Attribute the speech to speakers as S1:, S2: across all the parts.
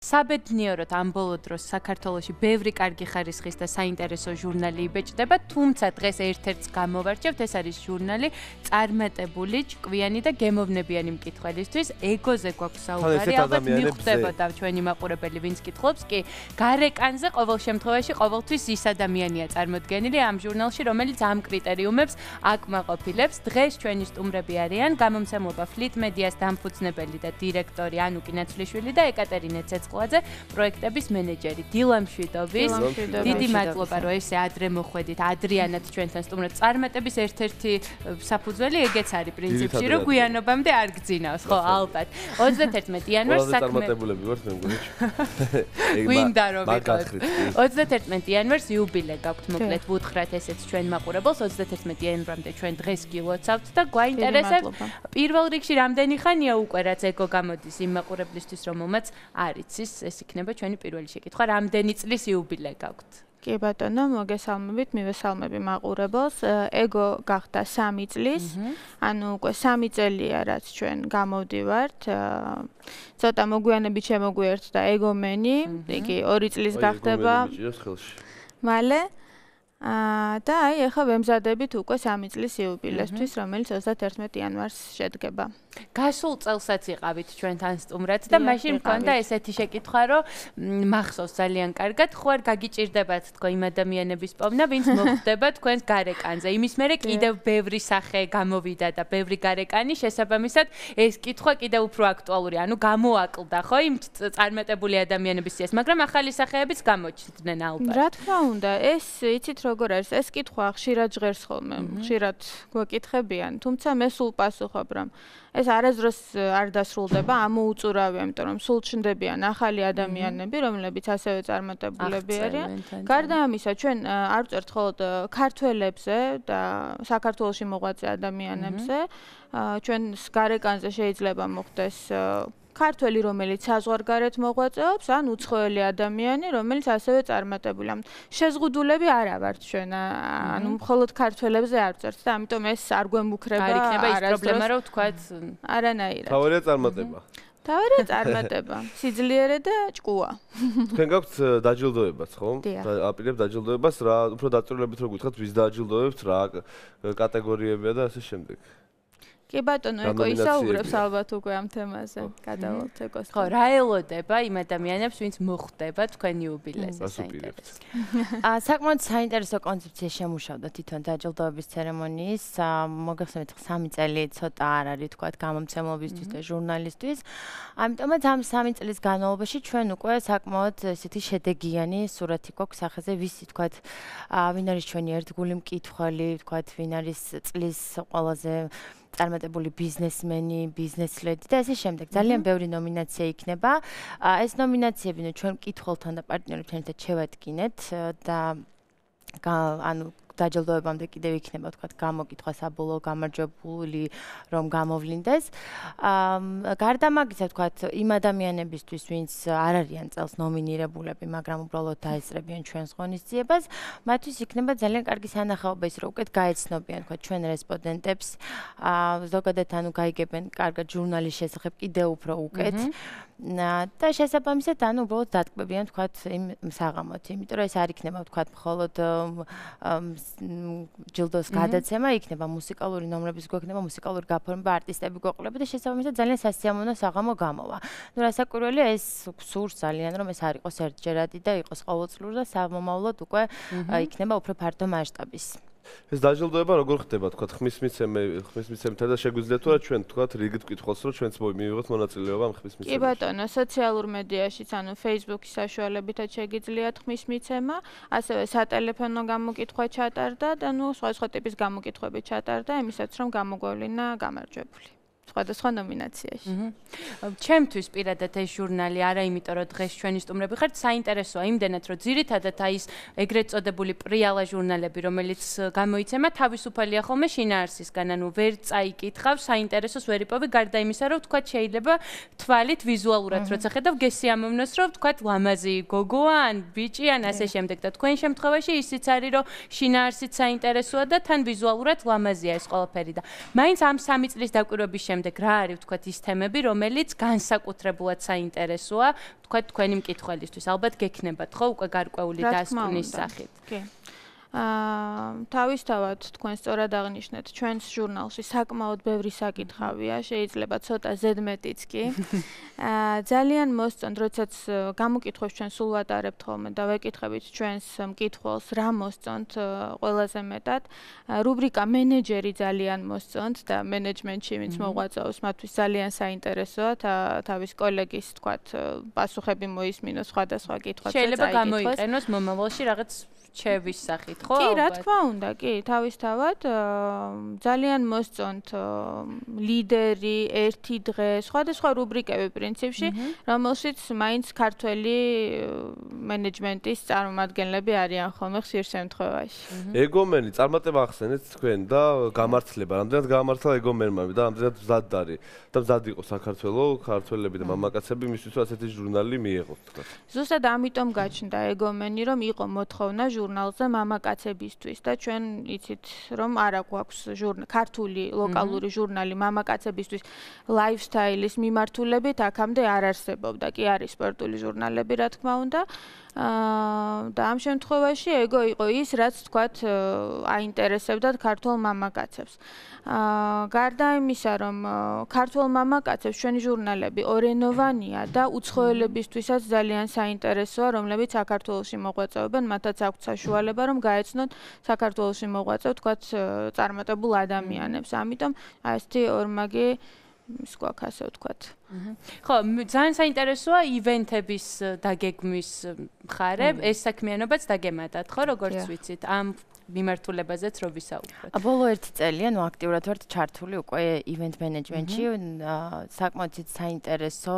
S1: საბედნიეროდ ამ ბოლო დროს საქართველოში ბევრი კარგი ხარისხის და საინტერესო ჟურნალი იბეჭდება, თუმცა დღეს ერთ-ერთს გამოვარჩევთ, ეს არის ჟურნალი წარმატებული, ჭკვიანი და გემოვნებიანი მკითხველისთვის. ეგოზე გვაქვს საუბარი, ალბათ მიხვდებოდა ჩვენი მაყურებელი, ვინც კითხულობს, კი გარეკანზე ყოველ შემთხვევაში ყოველთვის ის ადამიანია წარმოდგენილი ამ ჟურნალში, რომელიც ამ კრიტერიუმებს აკმაყოფილებს. დღეს ჩვენი სტუმრები არიან გამომცემლობა Fleet Media-ს დამფუძნებელი და დირექტორი ანუკი ნაცვლიშვილი და ეკატერინე ცეცხლაძე, პროექტების მენეჯერი დილა მშვიდობის. დიდი მადლობა, რომ ესე ადრე მოხვედით. ადრიანად ჩვენთან სტუმრობთ. წარმატების ერთ-ერთი საფუძველი ეგეც არის პრინციპში, რომ გვიანობამდე არ გძინავს, ხო, ალბათ. 31 იანვარს საქმე
S2: წარმატებულები ვართ მე მგონი.
S1: გვინდა რომ ვიყავით. 31 იანვარს იუბილე გაქვთ, მოკლედ ვუთხრათ ესეც ჩვენ მაყურებელს. 31 იანვრამდე ჩვენ დღეს გილოცავთ და გვაინტერესებს პირველ რიგში რამდენი ხანია უკვე რაც ეგო გამოდის იმ მაყურებლისთვის, რომელმაც არ იცის, ეს იქნება ჩვენი პირველი შეკითხვა. რამდენი წლის იუბილე გაქვთ?
S3: კი ბატონო, მოგესალმებით, მივესალმები მაყურებელს. ეგო გახდა 3 წლის, ანუ უკვე 3 წელია რაც ჩვენ გამოვდივართ. ცოტა მოგვიანებით შემოგვიერთდა ეგომენი, იგი 2 წლის გახდება. მალე და აი ახლა ვემზადებით უკვე 3 წლის იუბილესთვის, რომელიც 31 იანვარს შედგება.
S1: გასულ წელსაც იყავით ჩვენთან სტუმრად და მაშინ მქონდა ესეთი შეკითხვა, რომ მახსოვს ძალიან კარგად, ხო არ გაგიჭირდებათ თქო იმ ადამიანების პოვნა, ვინც მოხვდება თქვენს გარეკანზე. იმის მერე კიდევ ბევრი სახე გამოვიდა და ბევრი გარეკანი, შესაბამისად ეს კითხვა კიდევ უფრო აქტუალური, ანუ გამოაკლდა ხო იმ წარმატებული ადამიანების სიას, მაგრამ ახალი სახეებიც გამოჩნდნენ ალბათ.
S3: რა თქმა უნდა, ეს იცით როგორ არის, ეს კითხვა ხშირად ჟღერს ხოლმე, ხშირად გვაკითხებიან, თუმცა მე სულ პასუხობ, რომ ეს არასდროს არ დასრულდება, ამოუწურავია, იმიტომ რომ სულ ჩნდებიან ახალი ადამიანები, რომლებიც ასევე წარმატებულები არიან. გარდა ამისა, ჩვენ არ ვწერთ მხოლოდ ქართველებზე და საქართველოში მოღვაწე ადამიანებზე, ჩვენ გარეკანზე შეიძლება მოხდეს ქართველი, რომელიც საზღვარგარეთ მოღვაწეობს, ან უცხოელი ადამიანი, რომელიც ასევე წარმატებულია. შეზღუდულები არა ვართ ჩვენ, ანუ მხოლოდ ქართველებზე არ ვწერთ და ამიტომ ეს არ გვემუქრება.
S1: არ იქნება ის პრობლემა, რომ თქვათ
S3: არანაირად.
S2: თავარია წარმატება.
S3: თავარია წარმატება, სიძლიერე და ჭკუა.
S2: თქვენ გაქვთ დაჯილდოებაც, ხო? აპირებ დაჯილდოებას, რა უფრო დაწვრილებით რო გითხრათ, ვის დააჯილდოებთ, რა კატეგორიებია და ასე შემდეგ.
S3: კი ბატონო, ეკო ისაუბრებს ალბათ უკვე ამ თემაზე. გადავალთ ეკოს.
S1: ხო, რა ელოდება იმ ადამიანებს, ვინც მოხვდება თქვენ იუბილეზე საინტერესო.
S4: საკმაოდ საინტერესო კონცეფცია შემუშავდა თვითონ დაჯილდოების ცერემონიის. მოგახსენეთ, 3 წელი ცოტა არ არის თქვა გამომცემლობისთვის და ჟურნალისტვის. ამიტომაც ამ 3 წლის განმავლობაში ჩვენ უკვე საკმაოდ ესეთი შედეგიანი სურათი გვაქვს სახეზე, ვისი თქვა ვინ არის ჩვენი ერთგული მკითხველი, თქვა ვინ არის წლის ყველაზე წარმატებული ბიზნესმენი, ბიზნესლედი და ასე შემდეგ. ძალიან ბევრი ნომინაცია იქნება. ეს ნომინაციები ჩვენ მკითხველთან და პარტნიორებთან ერთად შევადგინეთ და ანუ დაჯილდოებამდე კიდევ იქნება თქვა გამოკითხვა საბოლოო გამარჯვებული რომ გამოვლინდეს. გარდა მაგისა თქვა იმ ადამიანებისთვის, ვინც არ არიან წელს ნომინირებულები, მაგრამ უბრალოდ დაესწრებიან ჩვენს ღონისძიებას, მათთვის იქნება ძალიან კარგი სანახაობა ის, რომ უკეთ გაეცნობიან თქვა ჩვენ რესპონდენტებს, ზოგადად ანუ გაიგებენ კარგად ჟურნალის შესახებ კიდევ უფრო უკეთ. და შესაბამისად ანუ უბრალოდ დატკბებიან თქვა იმ საღამოთ, იმიტომ რომ ეს არ იქნება თქვა მხოლოდ ჯილდოს გადაცემა, იქნება მუსიკალური ნომრების გვექნება, მუსიკალური გაფორმება, არტისტები გვეყოლება და შესაბამისად ძალიან სასიამოვნო საღამო გამოვა. ნუ რასაკვირველია ეს სურს ძალიან რომ ეს არ იყოს ერთჯერადი და იყოს ყოველწლიურად და სამომავლოდ უკვე იქნება უფრო ფართო მასშტაბის.
S2: ეს დაჯილდოება როგორ ხდება, თქვა ხმის მიცემთან და შეგვიძლია თუ რა ჩვენ თქვა რიგით ვკითხულს, რომ ჩვენც მივიღოთ მონაწილეობა ამ ხმის მიცემაში.
S3: კი ბატონო, სოციალურ მედიაშიც, ანუ Facebook-ის საშუალებითაც შეგიძლიათ ხმის მიცემა, ასევე სატელეფონო გამოკითხვა ჩატარდა და ნუ სხვა ტიპის გამოკითხვები ჩატარდა, იმისაც რომ გამოგვევლინა გამარჯვებული. სხვადასხვა ნომინაციაში.
S1: ჩემთვის პირადად ეს ჟურნალი არა იმიტომ რომ დღეს ჩვენი სტუმრები ხართ, საინტერესოა იმდენად რომ ძირითადად აი ეს ეგრეთ წოდებული პრიალა ჟურნალები, რომელიც გამოიცემა, თავისუფალია ხოლმე შინაარსისგან, ანუ ვერ წაიკითხავ, საინტერესოს ვერ იპოვი, გარდა იმისა, რომ თქვა შეიძლება თვალით ვიზუალურად როცა ხედავ გესიამოვნოს, რომ თქვა ლამაზი გოგოა ან ბიჭი ან ასე შემდეგ და თქვენ შემთხვევაში ისიც არის, რომ შინაარსიც საინტერესოა და თან ვიზუალურად ლამაზია ეს ყველაფერი და მაინც ამ 3 წლის დაკვირვების შემდეგ რა არის ვთქვათ ის თემები, რომელიც განსაკუთრებულად საინტერესოა ვთქვათ თქვენი მკითხველისთვის. ალბათ გექნებათ ხო უკვე გარკვეული დასკვნის სახით.
S3: კი. თავისთავად თქვენ სწორად აღნიშნეთ, ჩვენს ჟურნალში საკმაოდ ბევრი საკითხავია, შეიძლება ცოტა ზედმეტიც კი. ძალიან მოსწონთ, როდესაც გამოკითხვებს ჩვენ სულ ვატარებთ ხოლმე და ვეკითხებით ჩვენს მკითხველს, რა მოსწონთ ყველაზე მეტად. რუბრიკა მენეჯერი ძალიან მოსწონთ და მენეჯმენტში ვინც მოღვაწეობს, მათთვის ძალიან საინტერესოა თავის კოლეგის, თქვათ, პასუხები მოისმინოს სხვადასხვა კითხვებზე.
S1: შეიძლება გამოიყენოს მომავალში რაღაც ჩევის სახით, ხო?
S3: კი, რა თქმა უნდა, კი, თავისთავად ძალიან მოსწონთ ლიდერი, ერთი დღე, სხვადასხვა რუბრიკები პრინციპში, რომელშიც მაინც ქართველი მენეჯმენტის წარმომადგენლები არიან ხოლმე ხშირ შემთხვევაში.
S2: ეგომენი, წარმატება ახსენეთ თქვენ და გამართლება, რამდენად გამართლა ეგომენმა და რამდენად მზად არის და მზად იყო საქართველოს ქართველები და მამაკაცები მისთვის რომ ასეთი ჟურნალი მიეღოთ, თქვა.
S3: ზუსტად ამიტომ გაჩნდა ეგომენი, რომ იყო მოთხოვნა ჟურნალზე მამაკაცებისთვის და ჩვენ იცით რომ არა გვაქვს ქართული ლოკალური ჟურნალი მამაკაცებისთვის ლაიფსტაილის მიმართულებით აქამდე არ არსებობდა. კი არის სპორტული ჟურნალები რა თქმა უნდა. და ამ შემთხვევაში ეგო იყო ის, რაც თქვათ აინტერესებდათ ქართულ მამაკაცებს. გარდა იმისა, რომ ქართულ მამაკაცებს ჩვენი ჟურნალები ორენოვანია და უცხოელებისთვისაც ძალიან საინტერესოა, რომლებიც საქართველოში მოღვაწეობენ, მათაც აქვთ საშუალება, რომ გაეცნონ საქართველოში მოღვაწე, თქვათ, წარმატებულ ადამიანებს. ამიტომ ასეთი ორმაგი ის გვაქვს ასე ვთქვათ.
S1: ხო, ძალიან საინტერესოა ივენთების დაგეგმვის მხარე, ეს საქმიანობაც დაგემატათ, ხო, როგორც ვიცით, ამ მიმართულებაზეც რო ვისაუბროთ.
S4: ბოლო 1 წელია, ნუ აქტიურად ვართ ჩართული უკვე ივენთ მენეჯმენტში, საკმაოდ საინტერესო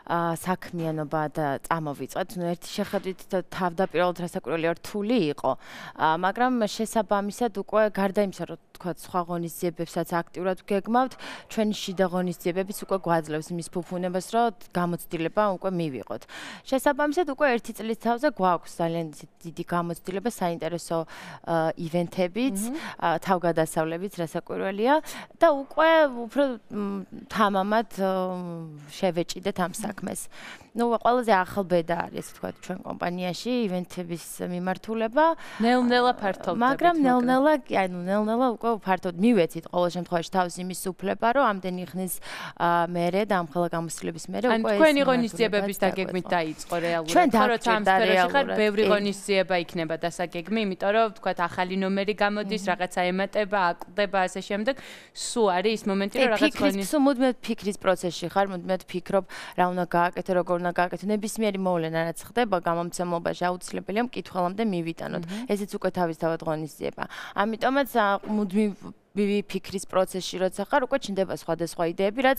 S4: საქმიანობა და წამოვიწყეთ. ნუ ერთი შეხედვით თავდაპირველად რასაკვირველია რთული იყო, მაგრამ შესაბამისად უკვე გარდა იმისა, რომ თქვათ სხვა ღონისძიებებსაც აქტიურად გეგმავთ, ჩვენი შიდა ღონისძიებებიც უკვე გვაძლევს იმის ფუფუნებას, რომ გამოცდილება უკვე მივიღოთ. შესაბამისად უკვე 1 წლის თავზე გვაქვს ძალიან დიდი გამოცდილება, საინტერესო ივენთებიც, თავგადასავლებიც რასაკვირველია და უკვე უფრო თამამად შევეჭიდეთ ამ საქმეს. ნუ ყველაზე ახალ ბედა არის, ასე ვთქვათ, ჩვენ კომპანიაში ივენთების მიმართულება.
S1: ნელ-ნელა ფართოვდება.
S4: მაგრამ ნელ-ნელა, აი ნუ ნელ-ნელა უკვე ფართოდ მივეცით ყოველ შემთხვევაში თავის იმის უფლება, რომ ამდენი ხნის მერე და ამ ხელა გამოცდილების მერე უკვე ეს
S1: თქვენი ღონისძიებების დაგეგმით დაიწყო რეალურად.
S4: როცა ამ სფეროში
S1: ხარ, ბევრი ღონისძიება იქნება დასაგეგმი, იმიტომ რომ ვთქვათ ახალი ნომერი გამოდის, რაღაცა ემატება, აკლდება ასე შემდეგ. სულ არის ის მომენტი, რომ რაღაც
S4: ღონისძიება მუდმივად ფიქრის პროცესში ხარ, მუდმივად ფიქრობ, რა უნდა გააკეთო, როგორ უნდა გააკეთო. ნებისმიერი მოვლენა რაც ხდება გამომცემლობაში აუცილებელია მკითხველამდე მივიტანოთ. ესეც უკვე თავისთავად ღონისძიება. ამიტომაც მუდმივი ფიქრის პროცესში როცა ხარ, უკვე ჩნდება სხვადასხვა იდეები, რაც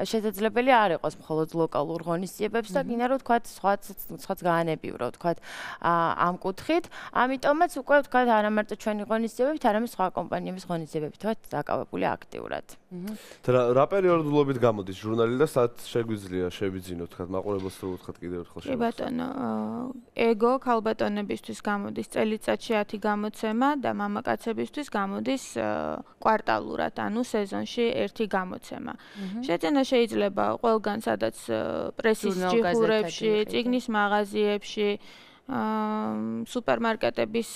S4: შესაძლებელი არ იყოს მხოლოდ ლოკალურ ღონისძიებებს და გინდა რომ ვთქვათ, სხვაც გაანებივრო, ვთქვათ, ამ კუთხით. ამიტომაც უკვე ვთქვათ, არა მარტო ჩვენი ღონისძიებებით, არამედ სხვა კომპანიების ღონისძიებებით ვთქვათ, დაკავებული აქტიურად.
S2: რა პერიოდულობით გამოდის ჟურნალი და სად შეგვიძლია შევიძინოთ, ვთქვათ, მაყურებელს რო ვთქვათ კიდევ ერთხელ
S3: შევიძინოთ. კი ბატონო, ეგო ქალბატონებისთვის გამოდის წელიწადში 10 გამოცემა და მამაკაცებისთვის გამოდის კვარტალურად, ანუ სეზონში 1 გამოცემა. შეძენა შეიძლება ყველგან, სადაც პრესის ჯიხურებში, წიგნის მაღაზიებში, სუპერმარკეტების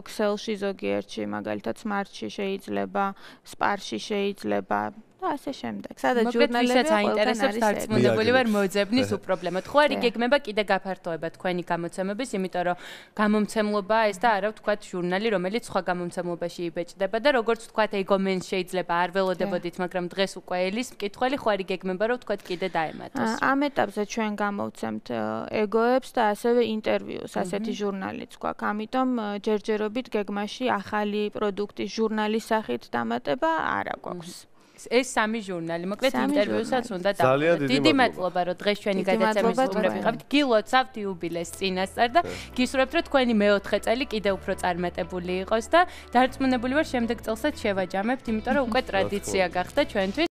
S3: ქსელში ზოგიერთში, მაგალითად სმარტში შეიძლება, სპარში შეიძლება და ასე შემდეგ. სადაც ჟურნალები
S1: აინტერესებს დარწმუნებული ვარ მოძებნის უპრობლემოდ. ხო არის გეგმება კიდე გაფართოება თქვენი გამოცემების, იმიტომ რომ გამომცემლობაა ეს და არა ვთქვათ ჟურნალი, რომელიც სხვა გამომცემლობაში იბეჭდება და როგორც ვთქვათ ეგომენს შეიძლება არ ველოდებოდით, მაგრამ დღეს უკვე ელის მკითხველი ხო არის გეგმება რომ ვთქვათ კიდე დაემატოს.
S3: ამ ეტაპზე ჩვენ გამოვცემთ ეგოებს და ასევე ინტერვიუს, ასეთი ჟურნალიც გვაქვს. ამიტომ ჯერჯერობით გეგმაში ახალი პროდუქტის ჟურნალის სახით დამატება არა გვაქვს.
S1: ეს სამი ჟურნალი, მოკლედ ინტერვიუსაც უნდა დავუყუროთ. დიდი მადლობა, რომ დღეს ჩვენი გადაცემის სტუმრები ხართ. გილოცავთ იუბილეს წინასწარ და გისურვებთ, რომ თქვენი მეოთხე წელი კიდევ უფრო წარმატებული იყოს და დარწმუნებული ვარ, შემდეგ წელსაც შევაჯამებთ, იმიტომ რომ უკვე ტრადიცია გახდა ჩვენთვის.